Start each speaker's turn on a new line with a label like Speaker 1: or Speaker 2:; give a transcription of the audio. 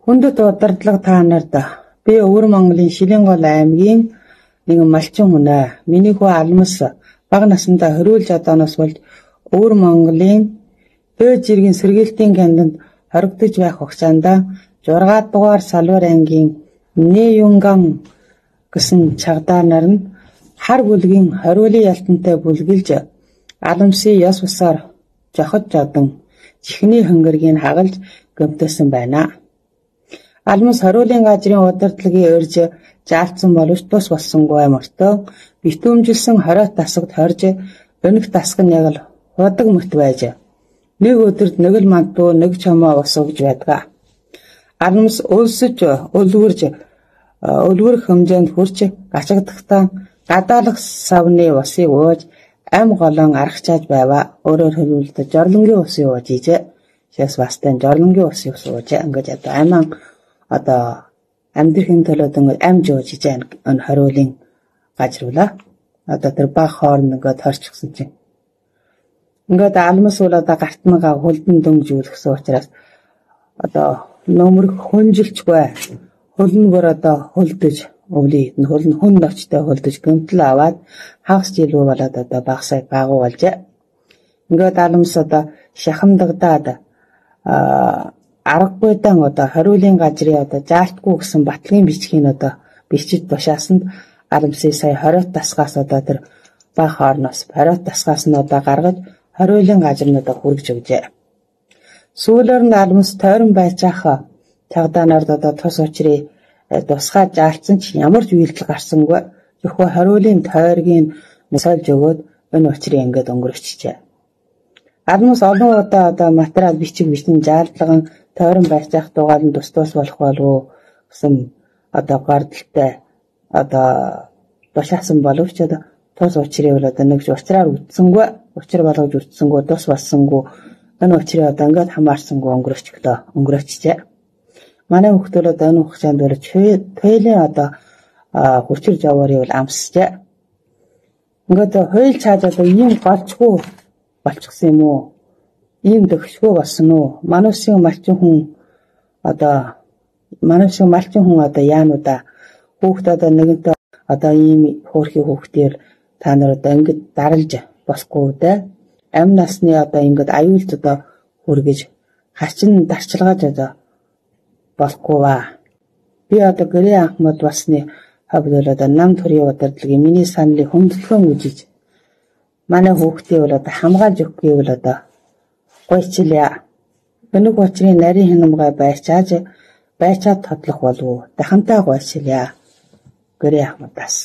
Speaker 1: Хүндэт удирдлага та нарт би Өвөр Монголын Шилэнгол аймгийн нэгэн малчин хүн аа. Миний хүү Алмас бага насндаа хориулж одооноос болж Өвөр Монголын Бөөж иргэн сэргээлтийн кандид хоригдож байх хугацаанд 6 дугаар Салбар ангийн Нэюнган гэсэн чагдаа нар нь хар бүлгийн хориулын ялтантай бүлгэлж Аламсын ёс бусаар жоход жодон чихний хөнгөргийг хагалж гомдсон байна. Алмас хориулын газрын удирдлагын өрж заалтсан боловч тус болсонгүй мөртөө битүүмжилсэн хориот тасагт хорж өнөх тасаг нь яг л худаг мөт байж нэг өдөрт нэг л мандуу нэг чамаа босгож байдаг. Алмас өлсөж өлгөрөх хэмжээнд хүрч гачигдахдаа гадаалах савны усыг ууж ам голон аргачааж байва. Өөрөөр хэлбэл жорлонгийн усыг ууж ийжээ. Шээс бастай жорлонгийн усыг ууж ингэж одоо аман одоо амьдрахын төлөөд ам жууж ийжээ энэ хориулын газруулаа. Одоо тэр баг хоорн ингээд хорчихсан чинь ингээд Алмас бол одоо гартнагаа хөлдөн дөнгөжүүлсэн учраас одоо нөмрөх хүнжилчгүй хөлнөгөр одоо хөлдөж өвлийд нь хөлн хүн ночтой хөлдөж гэмтэл аваад хагас жилүү болоод одоо багсаа багуу болжээ. Ингээд Алмас одоо шахамдагдаад аргагүйдан одоо хориулын газрын одоо заалтгүй гэсэн батлагын бичгийг одоо бичиж тушаасанд Алмсын сая хориот тасгаас одоо тэр баг хоорноос хориот тасгаас нь одоо гаргаж хориулын газрын одоо хүргэж өгжээ. Сүүлээр нь Алмас тойрон байцаах цагдаа нарт одоо тус учрыг тусгай заалтсан ч ямар ч үйлдэл гарсангүй зөвхөн хориулын тойргийн сольж өгөөд энэ учрыг ингээд өнгөрөөчжээ. Алмас олон удаа одоо материал бичиг заалтлаган тойрон байцаах дугаар нь тус болох болов уу гэсэн одоо гордолтой одоо тушаасан боловч одоо тус учрыг бол одоо нэг учраар үтсэнгүй учир болгож үтсэнгүй тус болсонгүй энэ учрыг одоо ингээд хамаарсангүй өнгөрөөчжээ. Манай хүүхдүүд одоо энэ хугацаанд бол тэлээ одоо хүчир жаваарыг бол амсжээ. Ингээд хойл цааж одоо ийм голчгүй болчихсон юм уу? Ийм дөхшгүй болсон уу? Манайсын малчин хүн одоо яануудаа хүүхд одоо нэгэнтээ одоо ийм хөөрхий хүүхдээр та нар одоо ингэж даралж босхгүй дээ. Амь насны одоо ингэж аюулт одоо хүргэж хачин дарчилгааж одоо болохгүй ба. Би одоо гэрээ Ахмад басны хавьд одоо нам төрийн удирдлагын миний саналыг хөндлөн үжиж манай хүүхдээ бол одоо хамгаалж өгөх гэвэл одоо гойчлаа. Өнөг учрын нарийн хянамгай байчаад тодлох болов уу? Дахантай гойчлаа. Гэрээ Ахмадаас.